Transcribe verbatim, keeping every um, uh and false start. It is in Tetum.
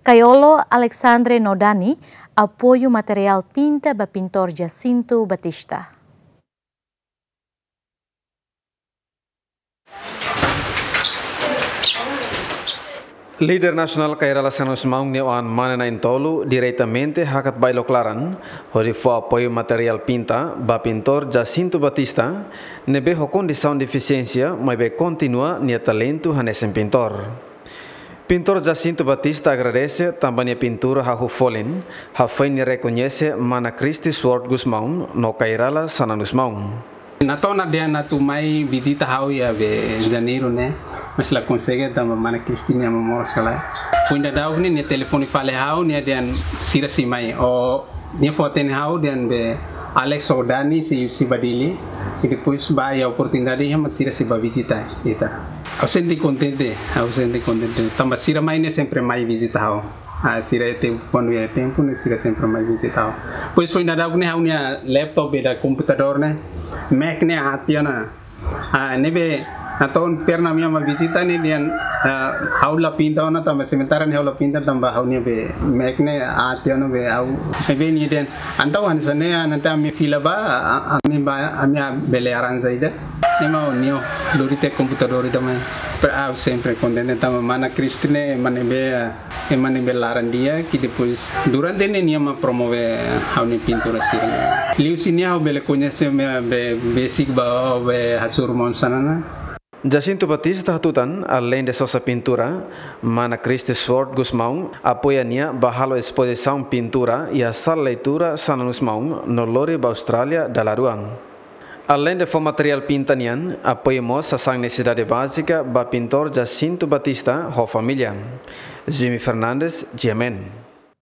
Kaiolo, Alexandre no Dani apoiu materiál pinta ba pintór Jacinto Batista. Líder nasionál Kay Rala Xananus Maun nia oan mane na'in-tolu diretamente hakat ba ai-loos klaran, hodi fó apoiu materiál pinta ba pintór Jacinto Batista, ne'ebé ho kondisaun defisiénsia, maibé kontinua nia talentu hanesan pintór. Pintór Jacinto Batista agradese tanba nia pintura hahú folin, hafoin nia rekoñese mana Christy Sword Gusmão no Kay Rala Xananus Maun. Natoon ona dehan atu mai vizita ha'u iha be Janeiru ne'e, mas la konsege tanba mana Christy nia moras kala. Foin daudauk ne'e nia telefone fali ha'u, nia dehan sira sei mai. Ou nia fó-hatene ha'u dehan be Alex ou Dani sei, sei bá Dili. I depois ba iha oportunidade iha mak sira sei bá vizita ita. Ha'u sente kontente, ha'u sente kontente. Tanba sira mai ne'e sempre mai vizita ha'u. Ah, sira iha tempu, kuandu iha tempu ne'e sira sempre mai vizita ha'u. Depois foin daudauk ne'e ha'u-nia laptop be da komputadór ne'e, Mac ne'e aat tiha ona. Ah, ne'ebé natoon pernah ami mai vizita ne'e dehan, ah, ha'u la pinta ona tanba sementara ne'e ha'u la pinta tanba ha'u-nia be Mac ne'e aat tiha ona be ha'u. Ne'ebé nia dehan, entaun hanesan ne'e, ah, nanti ami fila ba, ah, ah, ami ba, ami, ah, bele arranja ida. Ne'e mak nia lori tiha komputadór ida mai. Ha'u sempre kontente tanba mana Christy ne'e ema ne'ebé, ah, ema ne'ebé laran di'ak, i depois durante ne'e nia mak promove ha'u-nia pintura sira. Liuhusi nia ha'u bele koñese ema be, besik ba, be hasoru maun Xanana. Jacinto Batista hatutan, aleinde sosa pintura, mana Christy Sword Gusmão apoia nia ba halo espozisaun pintura iha sala leitura Xananus Maun no lori ba Austrália dala rua. Aleinde fó materiál pinta nian, apoia mós sasán nesesidade bázika ba pintór Jacinto Batista ho família. Jimmy Fernandes, G M N.